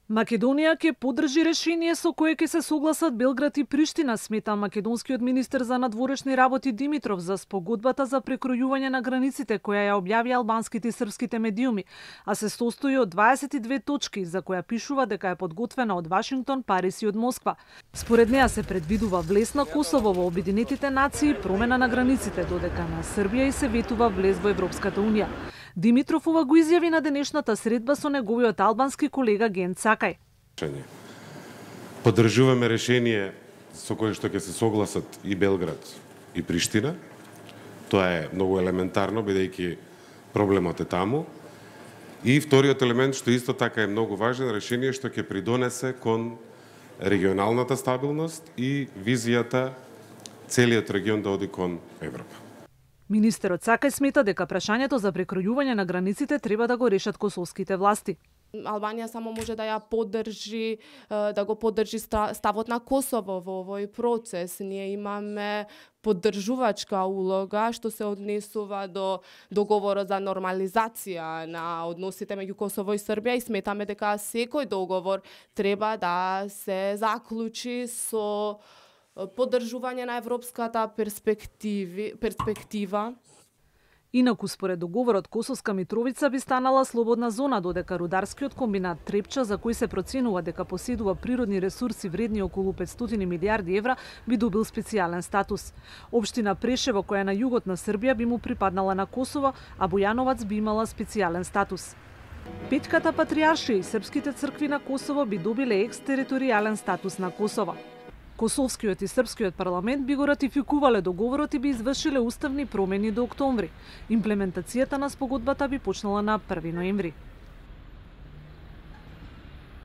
Македонија ќе поддржи решение со кое ќе се согласат Белград и Приштина, смета македонскиот министер за надворешни работи Димитров за спогодбата за прекројување на границите која ја објави албанските и српските медиуми, а се состои од 22 точки за која пишува дека е подготвена од Вашингтон, Париз и од Москва. Според неа се предвидува влез на Косово во Обединетите нации, промена на границите, додека на Србија и се ветува влез во Европската унија. Димитров ова го изјави на денешната средба со неговиот албански колега Ген Цакај. Поддржуваме решение со кое што ќе се согласат и Белград и Приштина. Тоа е многу елементарно, бидејќи проблемот е таму. И вториот елемент, што исто така е многу важен, решение што ќе придонесе кон регионалната стабилност и визијата целиот регион да оди кон Европа. Министерот Цакај смета дека прашањето за прекројување на границите треба да го решат косовските власти. Албанија само може да ја поддржи, да го поддржи ставот на Косово во овој процес. Ние имаме поддржувачка улога што се однесува до договорот за нормализација на односите меѓу Косово и Србија и сметаме дека секој договор треба да се заклучи со поддржување на европската перспектива. Инаку, според договорот, Косовска Митровица би станала слободна зона, додека рударскиот комбинат Трепча, за кој се проценува дека поседува природни ресурси вредни околу 500 милиарди евра, би добил специјален статус. Општина Прешево, која е на југот на Србија, би му припаднала на Косово, а Бујановац би имала специјален статус. Петката патријаршија и српските цркви на Косово би добиле екстериторијален статус на Косово. Косовскиот и српскиот парламент би го ратификувале договорот и би извршиле уставни промени до октомври. Имплементацијата на спогодбата би почнала на 1 ноември.